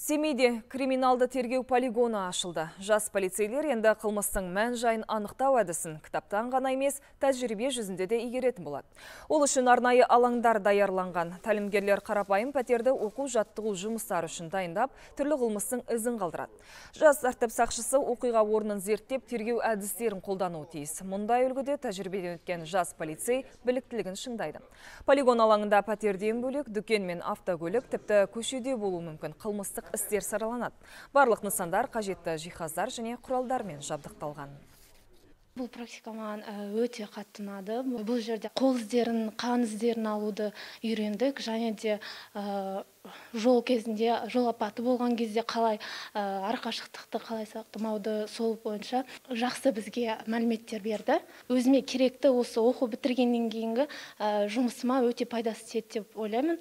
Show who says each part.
Speaker 1: Семейде криминалды тергеу полигоны ашылды. Жас полицейлер енді қылмыстың мән жайын анықтау әдісін кітаптан ғана емес, тәжірибе жүзінде де игеретін болады. Ол үшін арнайы алаңдар даярланған. Тәлімгерлер қарапайым пәтерді оқу жаттығу жұмыстары үшін дайындап, түрлі қылмыстың ізін қалдырады. Жас тәртіп сақшысы оқиға орнын зерттеп, тергеу әдістерін қолдануы тиіс. Мұндай үлгіде тәжірибеден өткен жас полицей біліктілігін шыңдайды. Полигон алаңында пәтерден бөлек дүкен мен автокөлік, тіпті көшеде болуы мүмкін қылмыстық істер сараланады. Барлық нысандар қажетті жиһаздар және құралдармен жабдықталған.
Speaker 2: Бұл практика маған өте қатты ұнады. Бұл жерде қол іздерін, қан іздерін алуды үйрендік, және де жол кезінде, жол апаты болған кезде қалай арақашықтықты қалай сақтамауды, сол бойынша жақсы бізге мәліметтер берді. Өзіме керекті осы оқу бітіргеннен кейінгі жұмысыма өте пайдасы тиеді деп ойлаймын.